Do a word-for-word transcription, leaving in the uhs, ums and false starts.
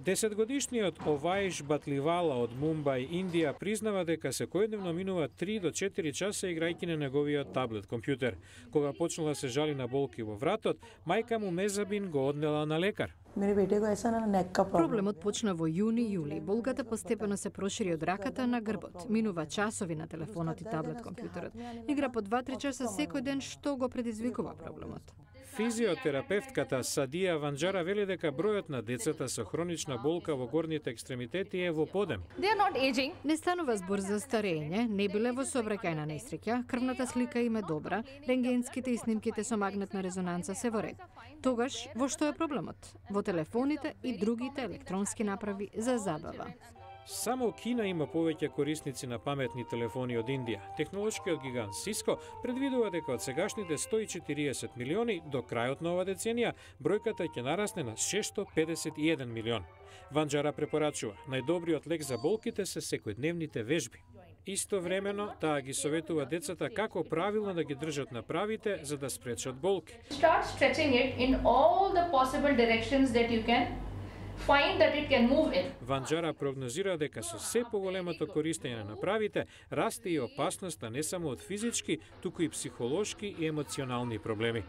Десетгодишниот Оваиш Батливала од Мумбај, Индија, признава дека секојдневно минува три до четири часа играјќи на неговиот таблет компјутер. Кога почнала да се жали на болки во вратот, мајка му Мезабин го однела на лекар. Проблемот почна во јуни-јули. Болката постепено се прошири од раката на грбот. Минува часови на телефонот и таблет компјутерот. Игра по два-три часа секој ден, што го предизвикува проблемот. Физиотерапевтката Садија Ванџара вели дека бројот на децата со хронична болка во горните екстремитети е во подем. Не станува збор за старење, не биле во сообраќајна несреќа, крвната слика им е добра, рентгенските и снимките со магнетна резонанца се во ред. Тогаш, во што е проблемот? Во телефоните и другите електронски направи за забава. Само Кина има повеќе корисници на паметни телефони од Индија. Технолошкиот гигант Сиско предвидува дека од сегашните сто и четириесет милиони до крајот на ова деценија бројката ќе нарасне на шестстотини педесет и еден милион. Ванџара препорачува, најдобриот лек за болките се секојдневните вежби. Истовремено, таа ги советува децата како правилно да ги држат направите за да спречат болки. Start stretching it in all the possible directions that you can find that it can move in. Ванџара прогнозира дека со се поголемото користење на направите расте и опасноста не само од физички, туку и психолошки и емоционални проблеми.